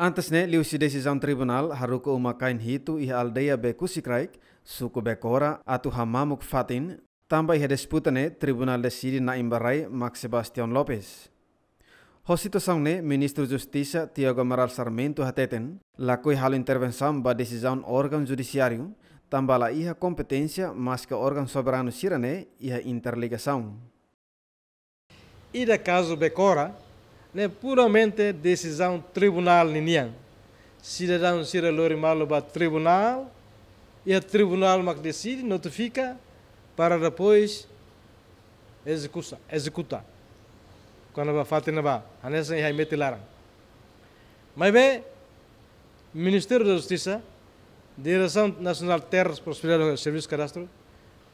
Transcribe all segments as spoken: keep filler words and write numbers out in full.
Antes ne'e, liuhusi desizaun tribunál haruka uma-kain hitu iha aldeia Bekusikraik, suku Bekora, atu hamamuk fatin, tanba iha disputa ne'e tribunál deside na'in ba rai mak Sebastião Lopes. Ho situasaun ne'e, Ministru Justisa Tiago Amaral Sarmento hateten, lakohi halo intervensaun ba desizaun órgaun judisiáriu, tanba la iha kompeténsia maske órgaun soberanu sira-ne'e iha interligasaun. Ida kazu Bekora ne'e puramente desizaun tribunál ninian. Sidadaun sira lori malu ba tribunál, iha tribunál mak deside, notifika, para depois ezekusa, ezekuta. Kona-ba fatin ne'ebá, hanesan iha Imeti laran. Maibé, Ministériu da Justisa, Diresaun Nasionál Terras, Propriedade e Servisu Kadastru,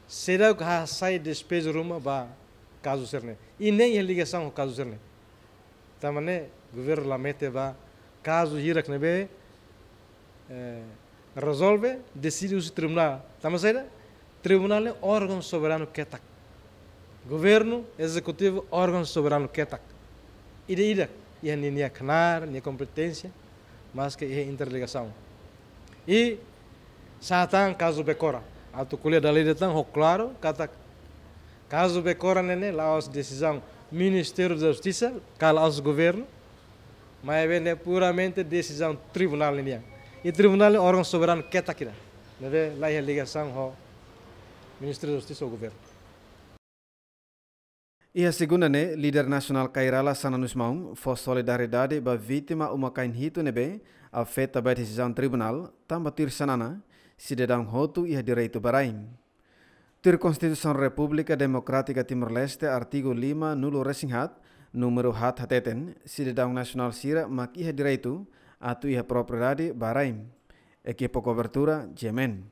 seidauk hasai despeju ruma ba kazu sira-ne'e. I nein iha ligasaun ho kazu sira-ne'e. Tanba ne'e, governu la mete ba kazu hirak ne'ebé, eh, rezolve, deside husi tribunál. Tanba saida, tribunál ne'e órgaun soberanu ketak. Governu, ezekutivu, órgaun soberanu ketak. Ida-idak iha ninia knaar, nia kompeténsia, maske iha interligasaun. I sá tan kazu Bekora. Atu ko'alia dala ida tan ho klaru, katak kazu Bekora ne'e ne'e la'ós desizaun Ministériu da Justisa, ka la'ós governu, maibé ne'e puramente desizaun tribunál ninian. I tribunál ne'e órgaun soberanu ketak ida. Ne'ebé la iha ligasaun ho Ministériu da Justisa ou governu. Iha segunda ne'e, líder nasionál Kay Rala Xanana Gusmão fó solidariedade ba vítima uma-kain hitu ne'ebé afeta ba desizaun tribunál, tanba tuir Xanana, sidadaun hotu iha direitu ba rai. Tuir Konstituisaun Repúblika Demokrátika Timor-Leste, artigu lima nulu resin haat, númeru haat hateten, sidadaun nasionál sira mak iha direitu atu iha propriedade ba rai. Ekipa kobertura, G M N.